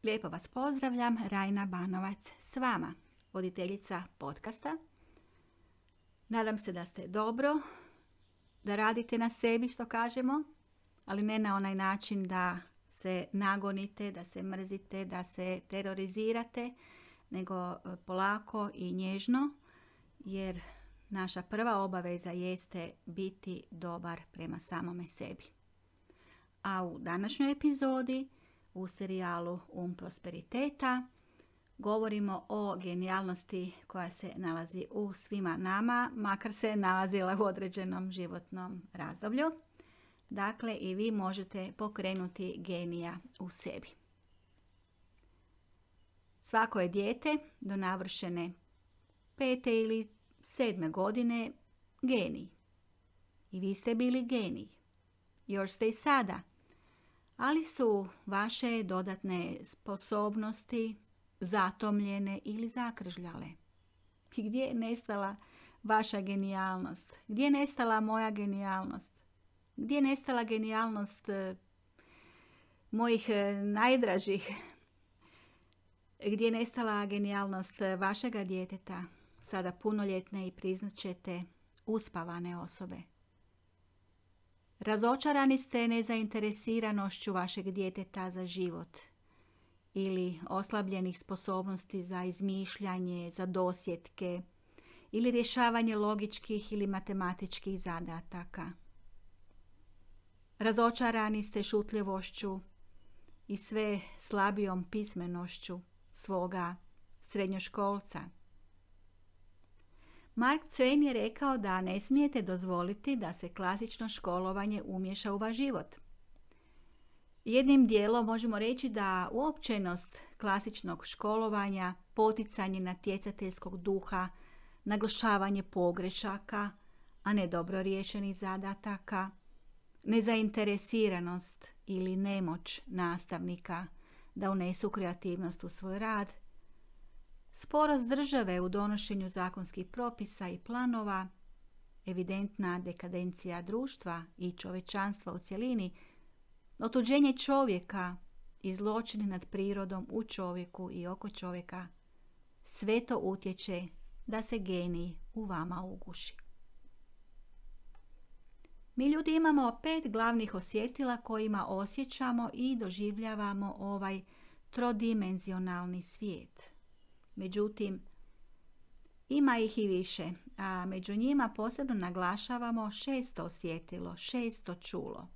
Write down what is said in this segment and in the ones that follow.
Lijepo vas pozdravljam, Rajna Banovac s vama, voditeljica podcasta. Nadam se da ste dobro, da radite na sebi, što kažemo, ali ne na onaj način da se nagonite, da se mrzite, da se terorizirate, nego polako i nježno, jer naša prva obaveza jeste biti dobar prema samome sebi. A u današnjoj epizodi, u serijalu Prosperiteta, govorimo o genijalnosti koja se nalazi u svima nama, makar se nalazila u određenom životnom razdoblju. Dakle, i vi možete pokrenuti genija u sebi. Svako je dijete do navršene 5. ili 7. godine genij. I vi ste bili genij. Još ste i sada. Ali su vaše dodatne sposobnosti zatomljene ili zakržljale. I gdje je nestala vaša genijalnost? Gdje je nestala moja genijalnost? Gdje je nestala genijalnost mojih najdražih? Gdje je nestala genijalnost vašega djeteta, sada punoljetne i priznat ćete uspavane osobe? Razočarani ste nezainteresiranošću vašeg djeteta za život ili oslabljenih sposobnosti za izmišljanje, za dosjetke ili rješavanje logičkih ili matematičkih zadataka. Razočarani ste šutljivošću i sve slabijom pismenošću svoga srednjoškolca. Mark Twain je rekao da ne smijete dozvoliti da se klasično školovanje umiješa u vaš život. Jednim dijelom možemo reći da uopćenost klasičnog školovanja, poticanje natjecateljskog duha, naglašavanje pogrešaka, a ne dobro riješenih zadataka, nezainteresiranost ili nemoć nastavnika da unesu kreativnost u svoj rad, sporost države u donošenju zakonskih propisa i planova, evidentna dekadencija društva i čovječanstva u cjelini, otuđenje čovjeka i zločini nad prirodom u čovjeku i oko čovjeka, sve to utječe da se genij u vama uguši. Mi ljudi imamo 5 glavnih osjetila kojima osjećamo i doživljavamo ovaj trodimenzionalni svijet. Međutim, ima ih i više, a među njima posebno naglašavamo 6. osjetilo, 6. čulo.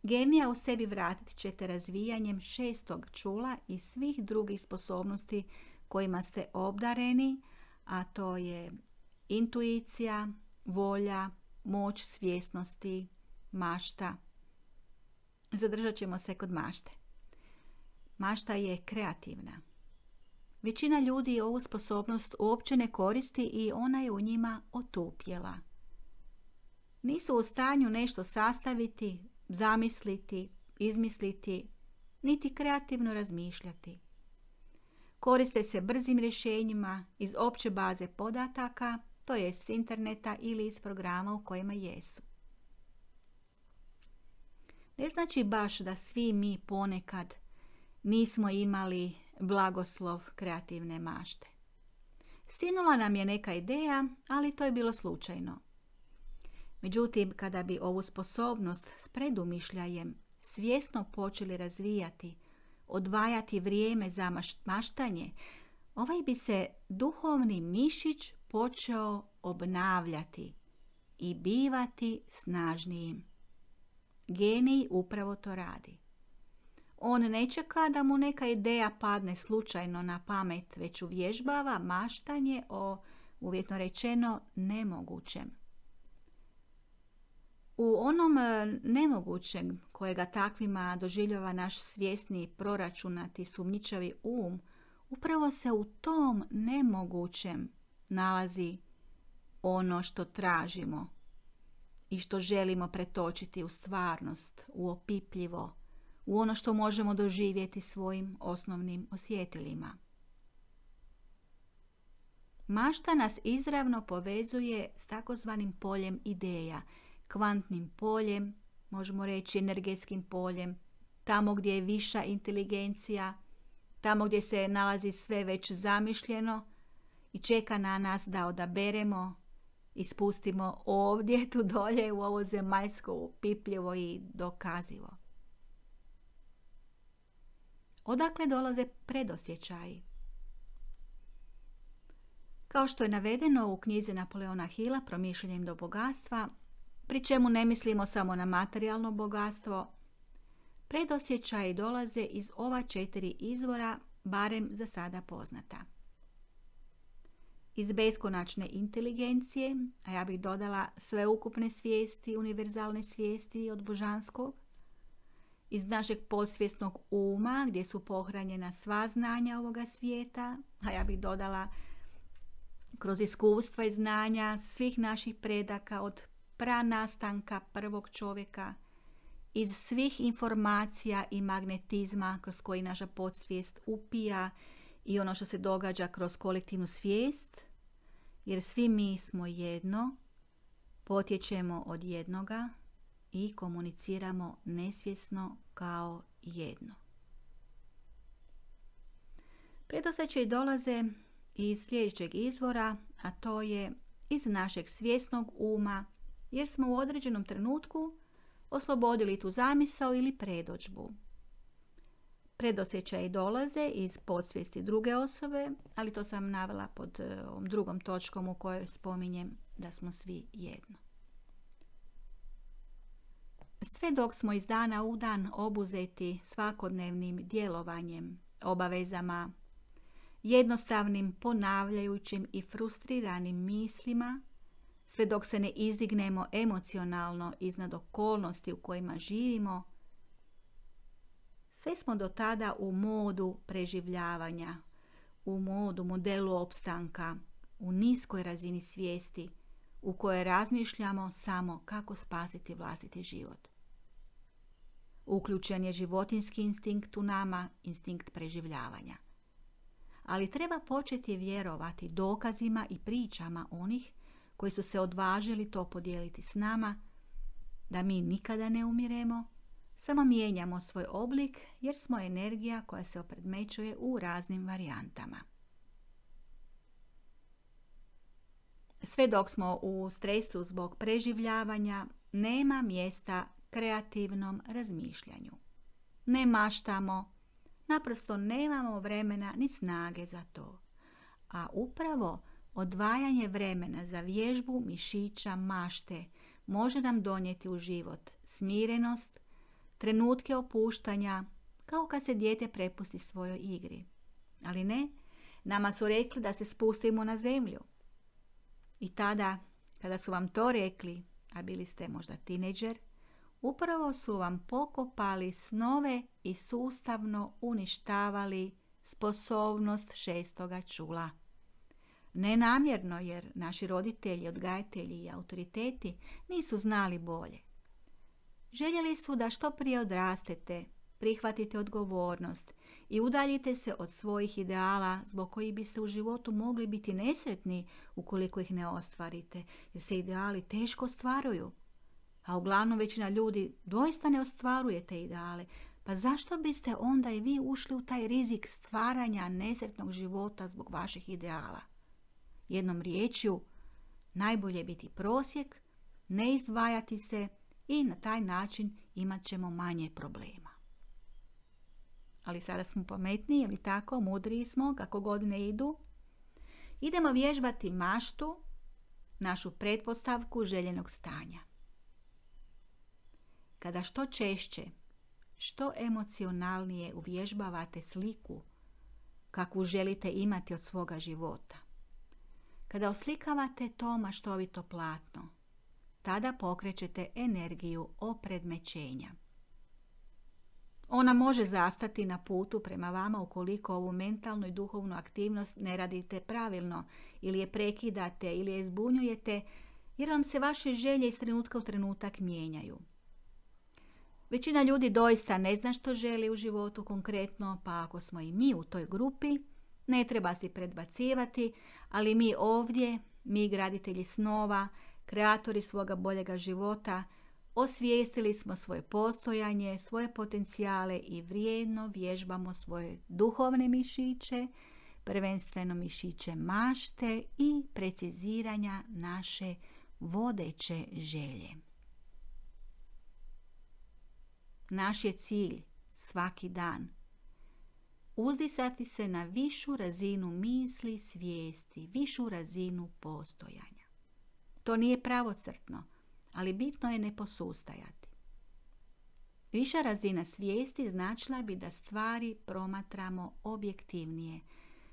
Genija u sebi vratit ćete razvijanjem 6. čula i svih drugih sposobnosti kojima ste obdareni, a to je intuicija, volja, moć svjesnosti, mašta. Zadržat ćemo se kod mašte. Mašta je kreativna. Većina ljudi ovu sposobnost uopće ne koristi i ona je u njima otupjela. Nisu u stanju nešto sastaviti, zamisliti, izmisliti, niti kreativno razmišljati. Koriste se brzim rješenjima iz opće baze podataka, to je s interneta ili iz programa u kojima jesu. Ne znači baš da svi mi ponekad nismo imali blagoslov kreativne mašte. Sinula nam je neka ideja, ali to je bilo slučajno. Međutim, kada bi ovu sposobnost s predumišljajem svjesno počeli razvijati, odvajati vrijeme za maštanje, ovaj bi se duhovni mišić počeo obnavljati i bivati snažnijim. Genij upravo to radi. On ne čeka da mu neka ideja padne slučajno na pamet, već uvježbava maštanje o, uvjetno rečeno, nemogućem. U onom nemogućem kojega takvima doživljava naš svjesni, proračunati, sumnjičavi um, upravo se u tom nemogućem nalazi ono što tražimo i što želimo pretočiti u stvarnost, u opipljivo, u ono što možemo doživjeti svojim osnovnim osjetilima. Mašta nas izravno povezuje s takozvanim poljem ideja, kvantnim poljem, možemo reći energetskim poljem, tamo gdje je viša inteligencija, tamo gdje se nalazi sve već zamišljeno i čeka na nas da odaberemo i spustimo ovdje, tu dolje, u ovo zemaljsko, pipljivo i dokazivo. Odakle dolaze predosjećaji? Kao što je navedeno u knjizi Napoleona Hilla Promišljanjem do bogatstva, pri čemu ne mislimo samo na materijalno bogatstvo, predosjećaji dolaze iz ova 4 izvora, barem za sada poznata. Iz beskonačne inteligencije, a ja bih dodala sveukupne svijesti, univerzalne svijesti od božanskog, iz našeg podsvjesnog uma gdje su pohranjena sva znanja ovoga svijeta, a ja bih dodala kroz iskustva i znanja svih naših predaka od pranastanka prvog čovjeka, iz svih informacija i magnetizma kroz koji naša podsvijest upija i ono što se događa kroz kolektivnu svijest, jer svi mi smo jedno, potječemo od jednoga i komuniciramo nesvjesno kao jedno. Predosjećaji dolaze iz sljedećeg izvora, a to je iz našeg svjesnog uma, jer smo u određenom trenutku oslobodili tu zamisao ili predodžbu. Predosjećaji dolaze iz podsvijesti druge osobe, ali to sam navela pod ovom drugom točkom u kojoj spominjem da smo svi jedno. Sve dok smo iz dana u dan obuzeti svakodnevnim djelovanjem, obavezama, jednostavnim, ponavljajućim i frustriranim mislima, sve dok se ne izdignemo emocionalno iznad okolnosti u kojima živimo, sve smo do tada u modu preživljavanja, u modelu opstanka, u niskoj razini svijesti u kojoj razmišljamo samo kako spasiti vlastiti život. Uključen je životinjski instinkt u nama, instinkt preživljavanja. Ali treba početi vjerovati dokazima i pričama onih koji su se odvažili to podijeliti s nama, da mi nikada ne umiremo, samo mijenjamo svoj oblik jer smo energija koja se opredmećuje u raznim varijantama. Sve dok smo u stresu zbog preživljavanja, nema mjesta kreativnom razmišljanju. Ne maštamo, naprosto nemamo vremena ni snage za to. A upravo odvajanje vremena za vježbu mišića mašte može nam donijeti u život smirenost, trenutke opuštanja, kao kad se dijete prepusti svojoj igri. Ali ne, nama su rekli da se spustimo na zemlju. I tada, kada su vam to rekli, a bili ste možda tinejdžer, upravo su vam pokopali snove i sustavno uništavali sposobnost 6. čula. Nenamjerno, jer naši roditelji, odgajatelji i autoriteti nisu znali bolje. Željeli su da što prije odrastete, prihvatite odgovornost i udaljite se od svojih ideala zbog kojih biste u životu mogli biti nesretni ukoliko ih ne ostvarite, jer se ideali teško ostvaruju. A uglavnom većina ljudi doista ne ostvaruje te ideale, pa zašto biste onda i vi ušli u taj rizik stvaranja nesretnog života zbog vaših ideala? Jednom riječju, najbolje biti prosjek, ne izdvajati se i na taj način imat ćemo manje problema. Ali sada smo pametniji, ili tako, mudriji smo kako godine idu. Idemo vježbati maštu, našu pretpostavku željenog stanja. Kada što češće, što emocionalnije uvježbavate sliku kakvu želite imati od svoga života, kada oslikavate to maštovito platno, tada pokrećete energiju opredmećenja. Ona može zastati na putu prema vama ukoliko ovu mentalnu i duhovnu aktivnost ne radite pravilno ili je prekidate ili je zbunjujete, jer vam se vaše želje iz trenutka u trenutak mijenjaju. Većina ljudi doista ne zna što želi u životu konkretno, pa ako smo i mi u toj grupi, ne treba si predbacivati, ali mi ovdje, mi graditelji snova, kreatori svoga boljega života, Osvijestili smo svoje postojanje, svoje potencijale i vrijedno vježbamo svoje duhovne mišiće, prvenstveno mišiće mašte i preciziranja naše vodeće želje. Naš je cilj svaki dan uzdisati se na višu razinu misli, svijesti, višu razinu postojanja. To nije pravocrtno, ali bitno je ne posustajati. Viša razina svijesti značila bi da stvari promatramo objektivnije,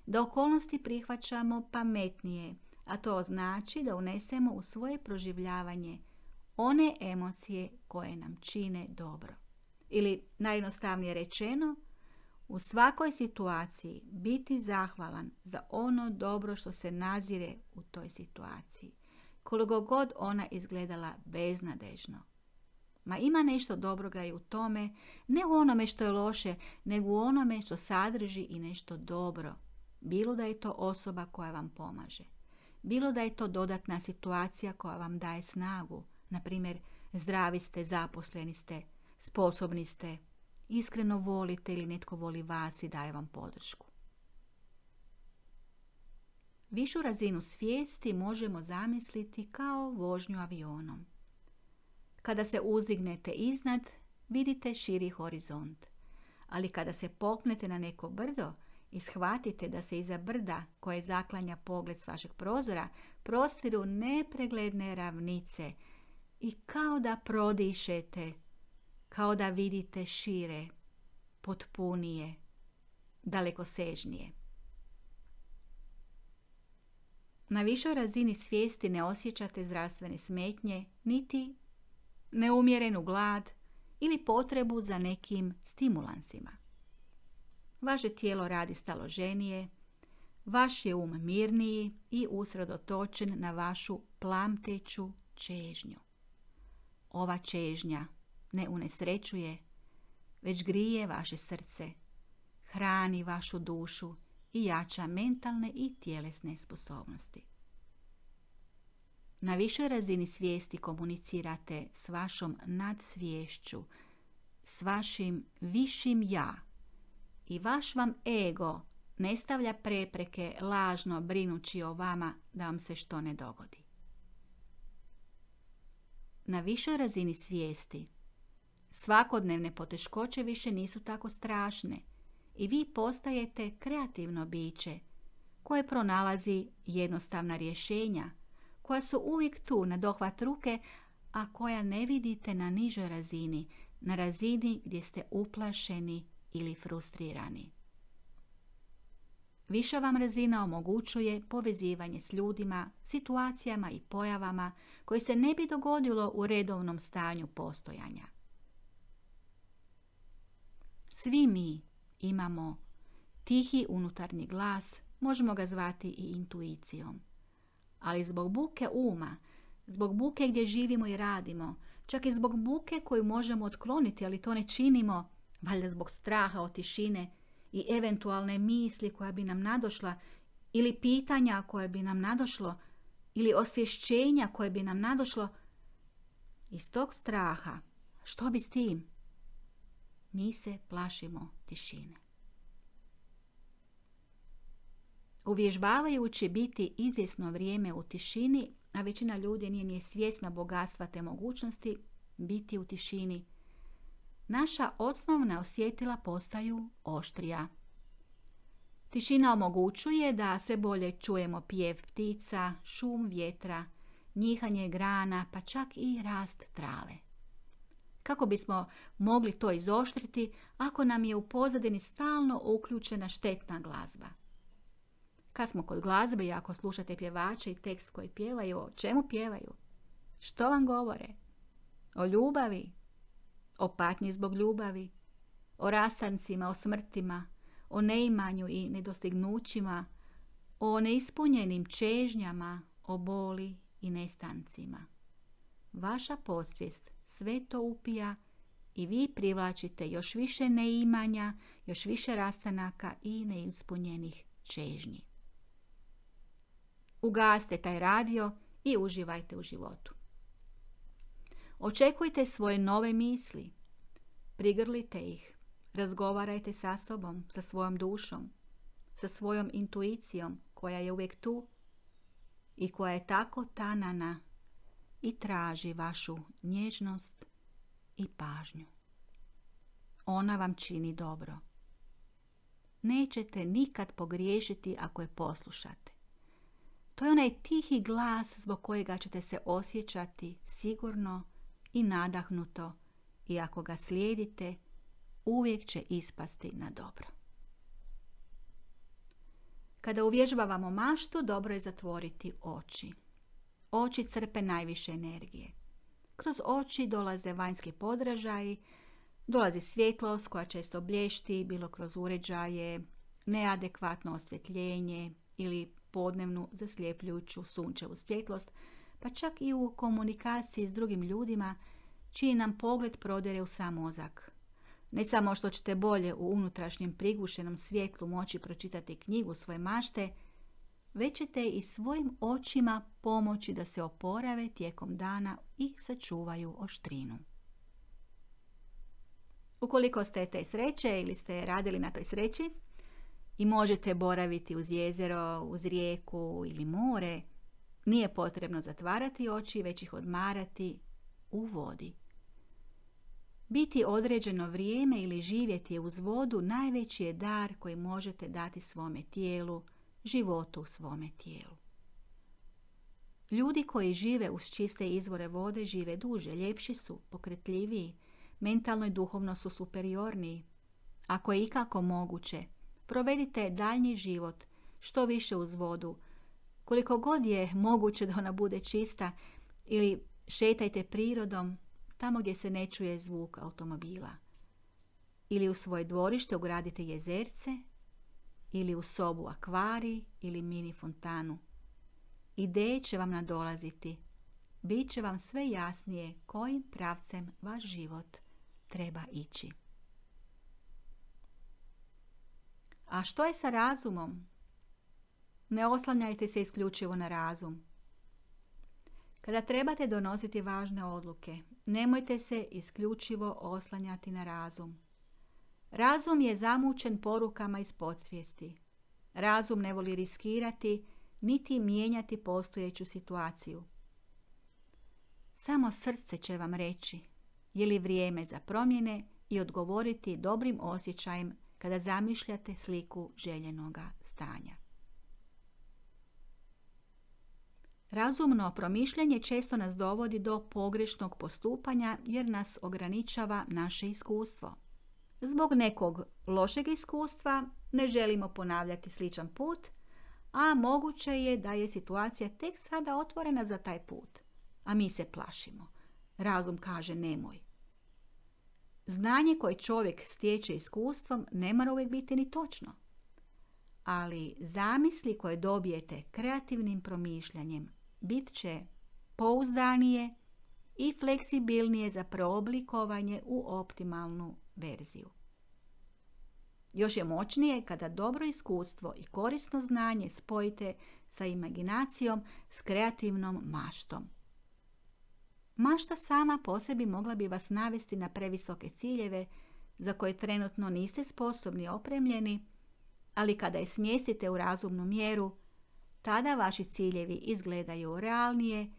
da okolnosti prihvaćamo pametnije, a to znači da unesemo u svoje proživljavanje one emocije koje nam čine dobro. Ili najjednostavnije rečeno, u svakoj situaciji biti zahvalan za ono dobro što se nazire u toj situaciji, koliko god ona izgledala beznadežno. Ma ima nešto dobroga i u tome, ne u onome što je loše, nego u onome što sadrži i nešto dobro. Bilo da je to osoba koja vam pomaže, bilo da je to dodatna situacija koja vam daje snagu, na primjer zdravi ste, zaposleni ste, sposobni ste, iskreno volite ili netko voli vas i daje vam podršku. Višu razinu svijesti možemo zamisliti kao vožnju avionom. Kada se uzdignete iznad, vidite širi horizont. Ali kada se popnete na neko brdo i shvatite da se iza brda koje zaklanja pogled s vašeg prozora prostiru nepregledne ravnice i kao da prodišete, kao da vidite šire, potpunije, dalekosežnije. Na višoj razini svijesti ne osjećate zdravstvene smetnje, niti neumjerenu glad ili potrebu za nekim stimulansima. Vaše tijelo radi staloženije, vaš je mirniji i usredotočen na vašu plamteću čežnju. Ova čežnja ne unesrećuje, već grije vaše srce, hrani vašu dušu i jača mentalne i tjelesne sposobnosti. Na višoj razini svijesti komunicirate s vašom nadsviješću, s vašim višim ja i vaš vam ego ne stavlja prepreke lažno brinući o vama da vam se što ne dogodi. Na višoj razini svijesti svakodnevne poteškoće više nisu tako strašne i vi postajete kreativno biće koje pronalazi jednostavna rješenja koja su uvijek tu na dohvat ruke, a koja ne vidite na nižoj razini, na razini gdje ste uplašeni ili frustrirani. Viša vam razina omogućuje povezivanje s ljudima, situacijama i pojavama koje se ne bi dogodilo u redovnom stanju postojanja. Svi mi imamo tihi unutarnji glas, možemo ga zvati i intuicijom. Ali zbog buke uma, zbog buke gdje živimo i radimo, čak i zbog buke koju možemo otkloniti, ali to ne činimo, valjda zbog straha od tišine i eventualne misli koja bi nam nadošla, ili pitanja koje bi nam nadošlo, ili osvješćenja koje bi nam nadošlo, iz tog straha, što bi s tim? Mi se plašimo tišine. Uvježbavajući biti izvjesno vrijeme u tišini, a većina ljudi nije svjesna bogatstva te mogućnosti biti u tišini, naša osnovna osjetila postaju oštrija. Tišina omogućuje da sve bolje čujemo pjev ptica, šum vjetra, njihanje grana, pa čak i rast trave. Kako bismo mogli to izoštriti ako nam je u pozadini stalno uključena štetna glazba? Kad smo kod glazbe i ako slušate pjevače i tekst koji pjevaju, o čemu pjevaju? Što vam govore? O ljubavi? O patnji zbog ljubavi? O rastancima, o smrtima, o neimanju i nedostignućima, o neispunjenim čežnjama, o boli i nestancima. Vaša podsvijest sve to upija i vi privlačite još više neimanja, još više rastanaka i neispunjenih čežnji. Ugasite taj radio i uživajte u životu. Očekujte svoje nove misli. Prigrlite ih. Razgovarajte sa sobom, sa svojom dušom, sa svojom intuicijom koja je uvijek tu i koja je tako tanana i traži vašu nježnost i pažnju. Ona vam čini dobro. Nećete nikad pogriješiti ako je poslušate. To je onaj tihi glas zbog kojega ćete se osjećati sigurno i nadahnuto i ako ga slijedite, uvijek će ispasti na dobro. Kada uvježbavamo maštu, dobro je zatvoriti oči. Oči crpe najviše energije. Kroz oči dolaze vanjski podražaji, dolazi svjetlost koja često blješti, bilo kroz uređaje, neadekvatno osvjetljenje ili podnevnu zasljepljujuću sunčevu svjetlost, pa čak i u komunikaciji s drugim ljudima, čiji nam pogled prodire u sam mozak. Ne samo što ćete bolje u unutrašnjem prigušenom svjetlu moći pročitati knjigu svoje mašte, već ćete i svojim očima pomoći da se oporave tijekom dana i sačuvaju oštrinu. Ukoliko ste te sreće ili ste radili na toj sreći i možete boraviti uz jezero, uz rijeku ili more, nije potrebno zatvarati oči, već ih odmarati u vodi. Biti određeno vrijeme ili živjeti uz vodu najveći je dar koji možete dati svome tijelu, životu u svome tijelu. Ljudi koji žive uz čiste izvore vode žive duže, ljepši su, pokretljiviji, mentalno i duhovno su superiorniji. Ako je ikako moguće, provedite daljnji život što više uz vodu, koliko god je moguće da ona bude čista, ili šetajte prirodom tamo gdje se ne čuje zvuk automobila. Ili u svoje dvorište ugradite jezerce, ili u sobu akvarij ili mini fontanu. Ideje će vam nadolaziti. Bit će vam sve jasnije kojim pravcem vaš život treba ići. A što je sa razumom? Ne oslanjajte se isključivo na razum. Kada trebate donositi važne odluke, nemojte se isključivo oslanjati na razum. Razum je zamučen porukama iz podsvijesti. Razum ne voli riskirati, niti mijenjati postojeću situaciju. Samo srce će vam reći je li vrijeme za promjene i odgovoriti dobrim osjećajem kada zamišljate sliku željenoga stanja. Razumno promišljanje često nas dovodi do pogrešnog postupanja jer nas ograničava naše iskustvo. Zbog nekog lošeg iskustva ne želimo ponavljati sličan put, a moguće je da je situacija tek sada otvorena za taj put, a mi se plašimo. Razum kaže nemoj. Znanje koje čovjek stječe iskustvom ne mora uvijek biti ni točno, ali zamisli koje dobijete kreativnim promišljanjem bit će pouzdanije i fleksibilnije za preoblikovanje u optimalnu verziju. Još je moćnije kada dobro iskustvo i korisno znanje spojite sa imaginacijom, s kreativnom maštom. Mašta sama po sebi mogla bi vas navesti na previsoke ciljeve za koje trenutno niste sposobni opremljeni, ali kada je smjestite u razumnu mjeru, tada vaši ciljevi izgledaju realnije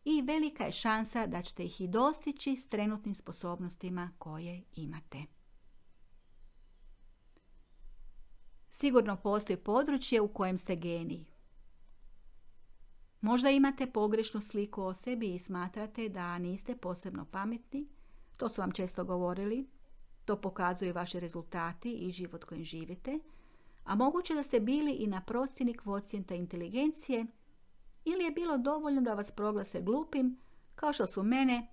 i velika je šansa da ćete ih i dostići s trenutnim sposobnostima koje imate. Sigurno postoji područje u kojem ste geniji. Možda imate pogrešnu sliku o sebi i smatrate da niste posebno pametni. To su vam često govorili. To pokazuju vaši rezultati i život kojim živite. A moguće da ste bili i na procjeni kvocijenta inteligencije ili je bilo dovoljno da vas proglase glupim, kao što su mene,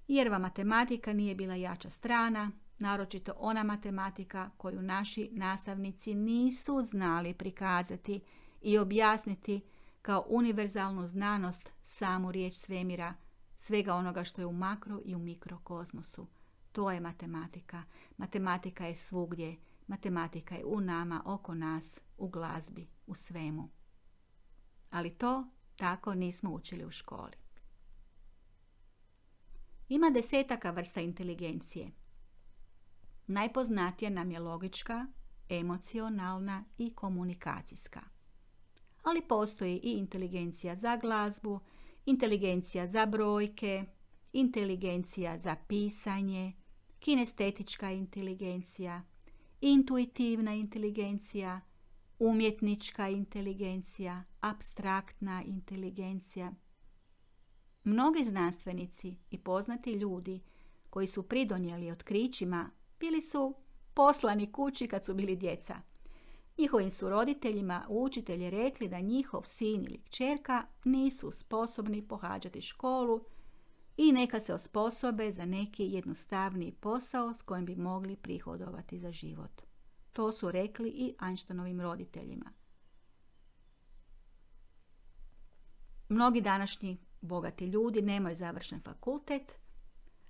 jer vam matematika nije bila jača strana, naročito ona matematika koju naši nastavnici nisu znali prikazati i objasniti kao univerzalnu znanost, samu riječ svemira, svega onoga što je u makro i u mikrokozmosu. To je matematika. Matematika je svugdje. Matematika je u nama, oko nas, u glazbi, u svemu. Ali to tako nismo učili u školi. Ima desetaka vrsta inteligencije. Najpoznatija nam je logička, emocionalna i komunikacijska. Ali postoji i inteligencija za glazbu, inteligencija za brojke, inteligencija za pisanje, kinestetička inteligencija, intuitivna inteligencija, umjetnička inteligencija, apstraktna inteligencija. Mnogi znanstvenici i poznati ljudi koji su pridonijeli otkrićima bili su poslani kući kad su bili djeca. Njihovim su roditeljima učitelji rekli da njihov sin ili kćerka nisu sposobni pohađati školu i neka se osposobe za neki jednostavniji posao s kojim bi mogli prihodovati za život. To su rekli i Einsteinovim roditeljima. Mnogi današnji bogati ljudi nemaju završen fakultet,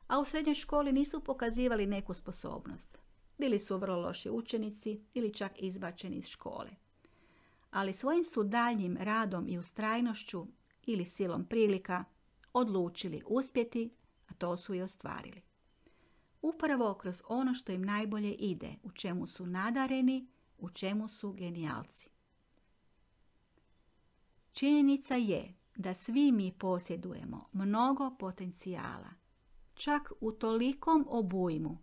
a u srednjoj školi nisu pokazivali neku sposobnost. Bili su vrlo loši učenici ili čak izbačeni iz škole. Ali svojim su daljnjim radom i ustrajnošću ili silom prilika odlučili uspjeti, a to su i ostvarili. Upravo kroz ono što im najbolje ide, u čemu su nadareni, u čemu su genijalci. Činjenica je da svi mi posjedujemo mnogo potencijala, čak u tolikom obujmu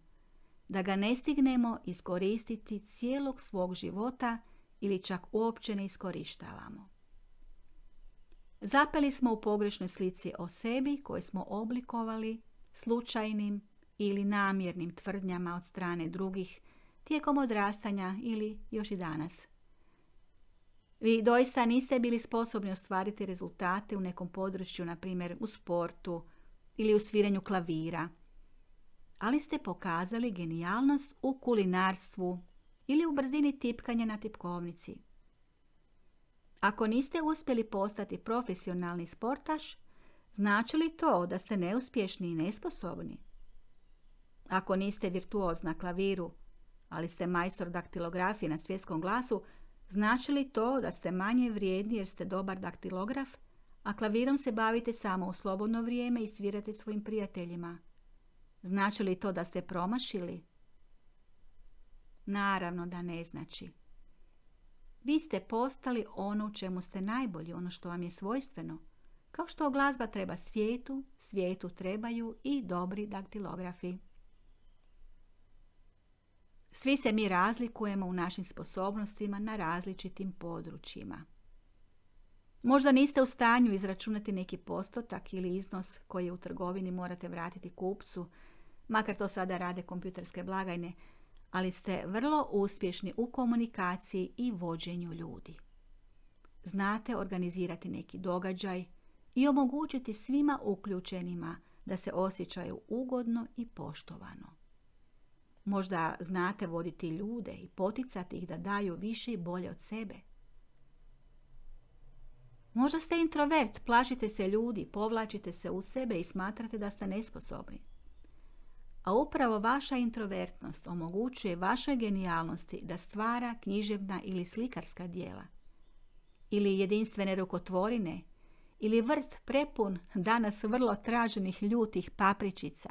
da ga ne stignemo iskoristiti cijelog svog života ili čak uopće ne iskorištavamo. Zapeli smo u pogrešnoj slici o sebi koje smo oblikovali slučajnim ili namjernim tvrdnjama od strane drugih tijekom odrastanja ili još i danas. Vi doista niste bili sposobni ostvariti rezultate u nekom području, na primjer u sportu ili u sviranju klavira, ali ste pokazali genijalnost u kulinarstvu ili u brzini tipkanja na tipkovnici. Ako niste uspjeli postati profesionalni sportaš, znači li to da ste neuspješni i nesposobni? Ako niste virtuoz na klaviru, ali ste majstor daktilografije na svjetskom glasu, znači li to da ste manje vrijedni jer ste dobar daktilograf, a klavirom se bavite samo u slobodno vrijeme i svirate svojim prijateljima? Znači li to da ste promašili? Naravno da ne znači. Vi ste postali ono u čemu ste najbolji, ono što vam je svojstveno. Kao što glazba treba svijetu, svijetu trebaju i dobri daktilografi. Svi se mi razlikujemo u našim sposobnostima na različitim područjima. Možda niste u stanju izračunati neki postotak ili iznos koji u trgovini morate vratiti kupcu, makar to sada rade kompjuterske blagajne, ali ste vrlo uspješni u komunikaciji i vođenju ljudi. Znate organizirati neki događaj i omogućiti svima uključenima da se osjećaju ugodno i poštovano. Možda znate voditi ljude i poticati ih da daju više i bolje od sebe. Možda ste introvert, plašite se ljudi, povlačite se u sebe i smatrate da ste nesposobni. A upravo vaša introvertnost omogućuje vašoj genijalnosti da stvara književna ili slikarska djela, ili jedinstvene rukotvorine, ili vrt prepun danas vrlo traženih ljutih papričica.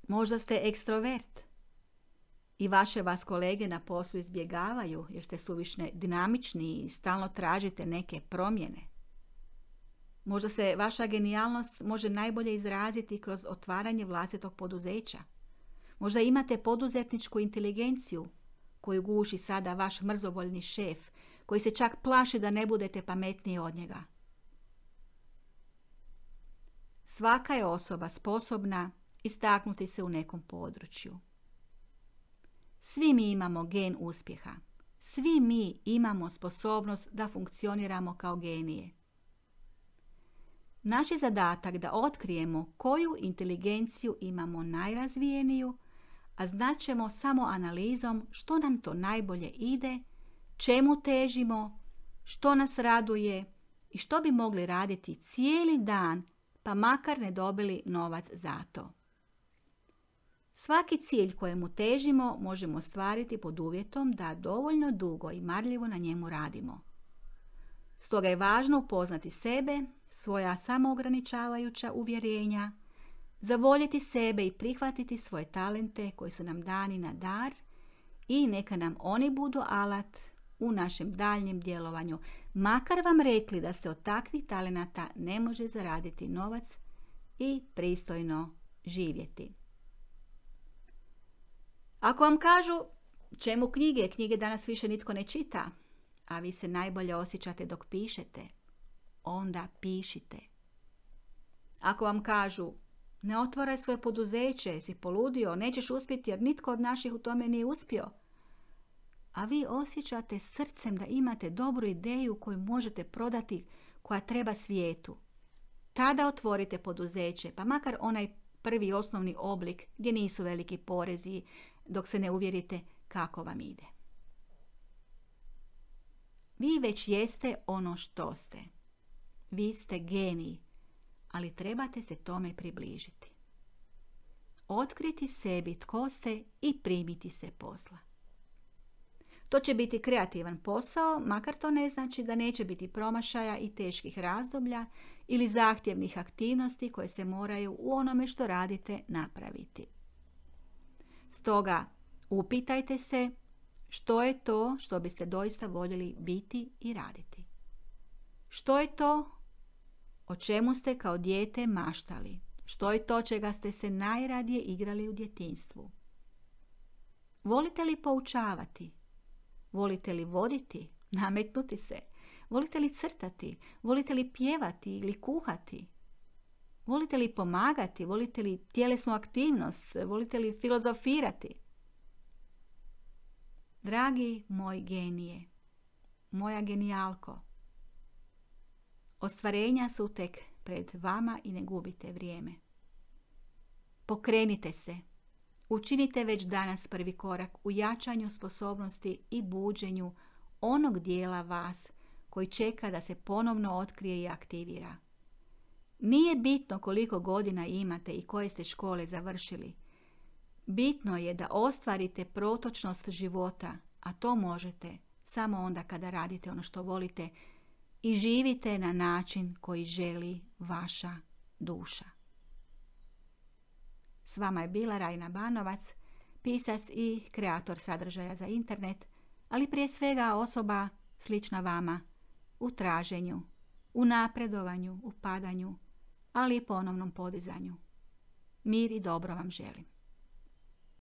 Možda ste ekstrovert i vaše vas kolege na poslu izbjegavaju jer ste suvišne dinamični i stalno tražite neke promjene. Možda se vaša genijalnost može najbolje izraziti kroz otvaranje vlastitog poduzeća. Možda imate poduzetničku inteligenciju koju guši sada vaš mrzovoljni šef, koji se čak plaši da ne budete pametniji od njega. Svaka je osoba sposobna istaknuti se u nekom području. Svi mi imamo gen uspjeha. Svi mi imamo sposobnost da funkcioniramo kao genije. Naš je zadatak da otkrijemo koju inteligenciju imamo najrazvijeniju, a znaćemo samo analizom što nam to najbolje ide, čemu težimo, što nas raduje i što bi mogli raditi cijeli dan, pa makar ne dobili novac za to. Svaki cilj kojemu težimo možemo ostvariti pod uvjetom da dovoljno dugo i marljivo na njemu radimo. Stoga je važno upoznati sebe, svoja samoograničavajuća uvjerenja, zavoljeti sebe i prihvatiti svoje talente koji su nam dani na dar i neka nam oni budu alat u našem daljnjem djelovanju, makar vam rekli da se od takvih talenata ne može zaraditi novac i pristojno živjeti. Ako vam kažu čemu knjige, knjige danas više nitko ne čita, a vi se najbolje osjećate dok pišete, onda pišite. Ako vam kažu ne otvaraj svoje poduzeće, si poludio, nećeš uspjeti jer nitko od naših u tome nije uspio, a vi osjećate srcem da imate dobru ideju koju možete prodati, koja treba svijetu, tada otvorite poduzeće, pa makar onaj prvi osnovni oblik gdje nisu veliki porezi, dok se ne uvjerite kako vam ide. Vi već jeste ono što ste. Vi ste genij, ali trebate se tome približiti. Otkriti sebi tko ste i primiti se posla. To će biti kreativan posao, makar to ne znači da neće biti promašaja i teških razdoblja ili zahtjevnih aktivnosti koje se moraju u onome što radite napraviti. Stoga, upitajte se što je to što biste doista voljeli biti i raditi. Što je to o čemu ste kao dijete maštali? Što je to čega ste se najradije igrali u djetinjstvu? Volite li poučavati? Volite li voditi? Nametnuti se? Volite li crtati? Volite li pjevati ili kuhati? Volite li pomagati? Volite li tjelesnu aktivnost? Volite li filozofirati? Dragi moj genije, moja genijalko, ostvarenja su tek pred vama i ne gubite vrijeme. Pokrenite se. Učinite već danas prvi korak u jačanju sposobnosti i buđenju onog dijela vas koji čeka da se ponovno otkrije i aktivira. Nije bitno koliko godina imate i koje ste škole završili. Bitno je da ostvarite protočnost života, a to možete samo onda kada radite ono što volite i živite na način koji želi vaša duša. S vama je bila Rajna Banovac, pisac i kreator sadržaja za internet, ali prije svega osoba slična vama u traženju, u napredovanju, u padanju, ali i ponovnom podizanju. Mir i dobro vam želim.